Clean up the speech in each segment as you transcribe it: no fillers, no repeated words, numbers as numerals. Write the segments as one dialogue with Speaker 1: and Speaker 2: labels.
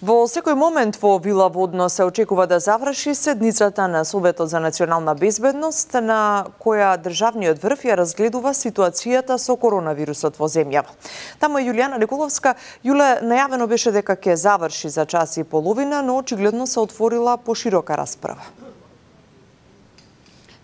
Speaker 1: Во секој момент во Вила Водно се очекува да заврши седницата на Советот за национална безбедност, на која државниот врв ја разгледува ситуацијата со коронавирусот во земјава. Таму е Јулијана Николовска. Јуле, најавено беше дека ќе заврши за час и половина, но очигледно се отворила поширока расправа.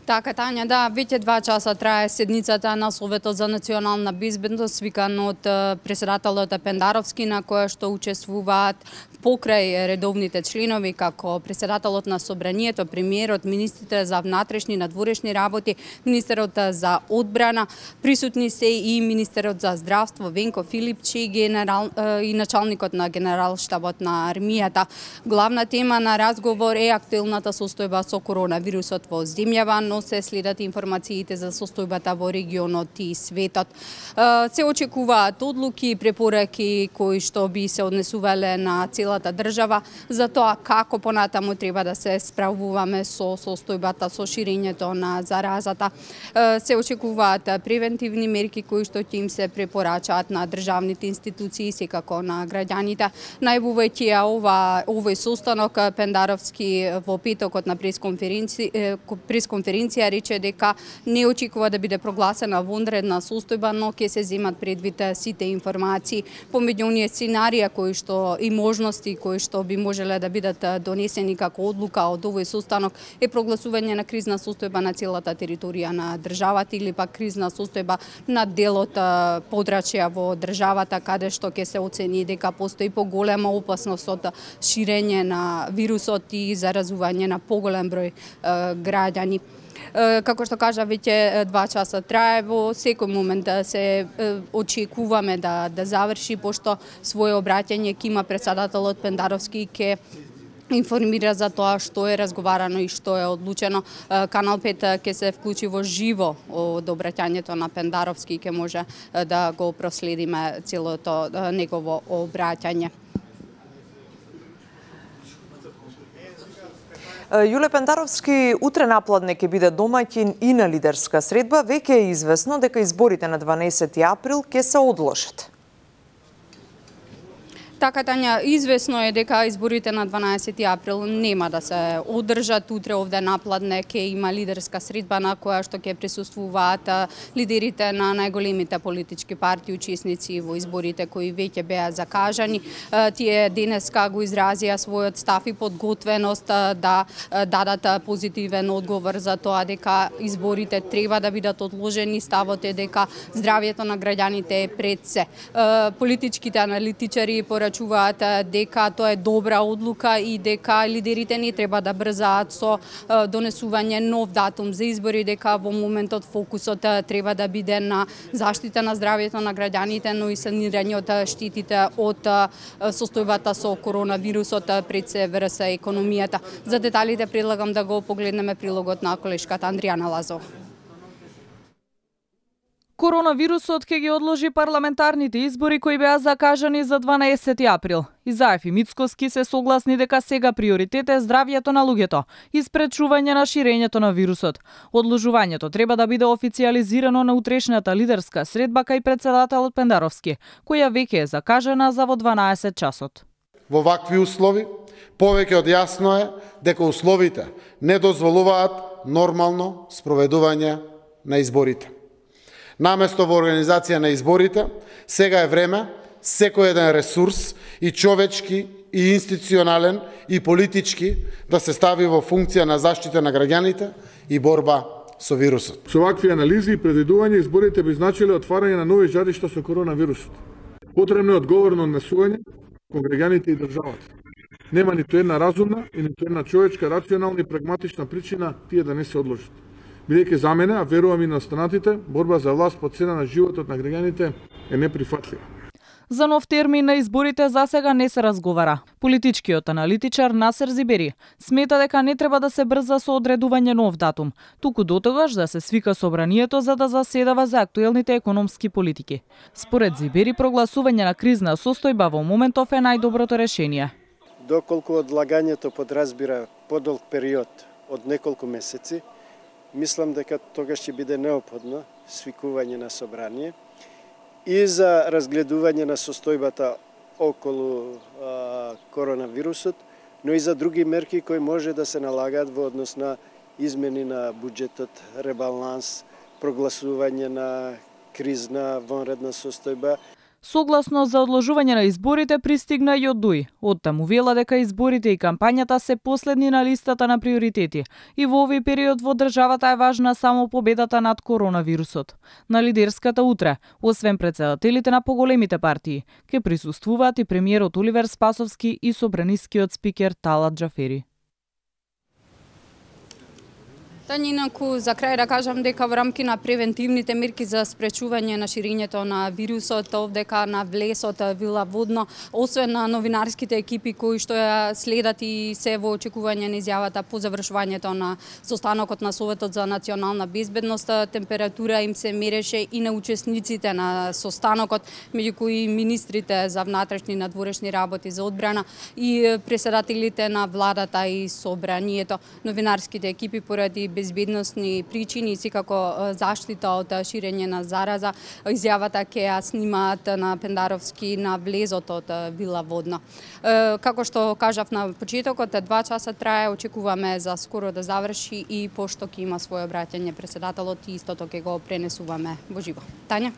Speaker 2: Така, Тања, да, веќе 2 часа трае седницата на Советот за национална безбедност, свикан од председателот Пендаровски, на која што учествуваат покрај редовните членови, како председателот на Собранието, премиерот, министрите за внатрешни и надворешни работи, министерот за одбрана, присутни се и министерот за здравство Венко Филипчи и началникот на генералштабот на армијата. Главна тема на разговор е актуелната состојба со коронавирусот во земјава, но се следат информациите за состојбата во регионот и светот. Се очекуваат одлуки и препораки кои што би се однесувале на целата држава за тоа како понатаму треба да се справуваме со состојбата, со ширењето на заразата. Се очекуваат превентивни мерки кои што ќе им се препорачаат на државните институции, секако на граѓаните. Најавувајќи овој состанок, Пендаровски во петокот на пресконференција рече дека не очекува да биде прогласена вонредна состојба, но ќе се земат предвид сите информации. Помеѓу оние сценарија кои што и можности кои што би можеле да бидат донесени како одлука од овој состанок е прогласување на кризна состојба на целата територија на државата или пак кризна состојба на делот подрачја во државата каде што ќе се оцени дека постои поголема опасност од ширење на вирусот и заразување на поголем број граѓани. Како што кажа, веќе 2 часа трае, во секој момент се очекуваме да заврши, пошто своје обраќање ќе има председателот Пендаровски и ќе информира за тоа што е разговарано и што е одлучено. Канал 5 ќе се вклучи во живо од обраќањето на Пендаровски и ќе може да го проследиме целото негово обраќање.
Speaker 1: Јуле, Пендаровски утре напладне ќе биде домаќин и на лидерска средба. Веќе е известно дека изборите на 12 април ќе се одложат.
Speaker 2: Така, Тања, известно е дека изборите на 12 април нема да се одржат. Утре овде напладне ќе има лидерска средба на која што ќе присуствуваат лидерите на најголемите политички партии, учесници во изборите кои веќе беа закажани. Тие денеска го изразија својот став и подготвеност да дадат позитивен одговор за тоа дека изборите треба да бидат одложени. Ставот е дека здравјето на граѓаните е пред се. Политичките аналитичари порачуваат дека тоа е добра одлука и дека лидерите не треба да брзаат со донесување нов датум за избори, дека во моментот фокусот треба да биде на заштита на здравјето на граѓаните, но и санирање од штетите од состојбата со коронавирусот пред се врз економијата. За деталите предлагам да го погледнеме прилогот на колешката Андријана Лазов.
Speaker 3: Коронавирусот ќе ги одложи парламентарните избори кои беа закажани за 12 април. Изаев и Мицкоски се согласни дека сега приоритет е здравјето на луѓето и спречување на ширењето на вирусот. Одложувањето треба да биде официјализирано на утрешната лидерска средба кај председателот Пендаровски, која веќе е закажана за во 12 часот.
Speaker 4: Во вакви услови, повеќе од јасно е дека условите не дозволуваат нормално спроведување на изборите. Наместо во организација на изборите, сега е време секој еден ресурс и човечки, и институционален, и политички да се стави во функција на заштита на граѓаните и борба со вирусот.
Speaker 5: Со вакви анализи и предвидување изборите би значиле отварање на нови жаришта со коронавирусот. Потребно е одговорно однесување кон граѓаните и државата. Нема ниту една разумна и ниту една човечка, рационална и прагматична причина тие да не се одложат. Бидејќи за мене, а верувам и на останатите, борба за власт по цена на животот на граѓаните е неприфатлива.
Speaker 3: За нов термин на изборите засега не се разговара. Политичкиот аналитичар Насер Зибери смета дека не треба да се брза со одредување нов датум, туку дотогаш да се свика собранието за да заседава за актуелните економски политики. Според Зибери, прогласување на кризна состојба во моментов е најдоброто решение.
Speaker 6: Доколку одлагањето подразбира подолг период од неколку месеци, мислам дека тогаш ќе биде неопходно свикување на собрание и за разгледување на состојбата околу коронавирусот, но и за други мерки кои може да се налагаат во однос на измени на буџетот, ребаланс, прогласување на кризна вонредна состојба.
Speaker 3: Согласно за одложување на изборите пристигна и од ДУИ. Оттаму вела дека изборите и кампањата се последни на листата на приоритети и во овој период во државата е важна само победата над коронавирусот. На лидерската утре, освен претседателите на поголемите партии, ќе присуствуваат и премиерот Оливер Спасовски и собранискиот спикер Талат Џафери.
Speaker 2: Инаку, за крај да кажам дека во рамки на превентивните мерки за спречување на ширењето на вирусот, овдека на влесот Вила Водно, освен на новинарските екипи кои што ја следат и се во очекување на изјавата по завршувањето на состанокот на Советот за национална безбедност, температура им се мереше и на учесниците на состанокот, меѓу кои министрите за внатрешни и надворешни работи, за одбрана и претседателите на владата и собранието. Новинарските екипи поради безбедносни причини и секако заштита од ширење на зараза, изјавата ќе ја снимаат на Пендаровски на влезот од Вила Водно. Како што кажав на почетокот, 2 часа трае, очекуваме за скоро да заврши и пошто ќе има своје обраќање претседателот и истото ќе го пренесуваме во живо. Тања?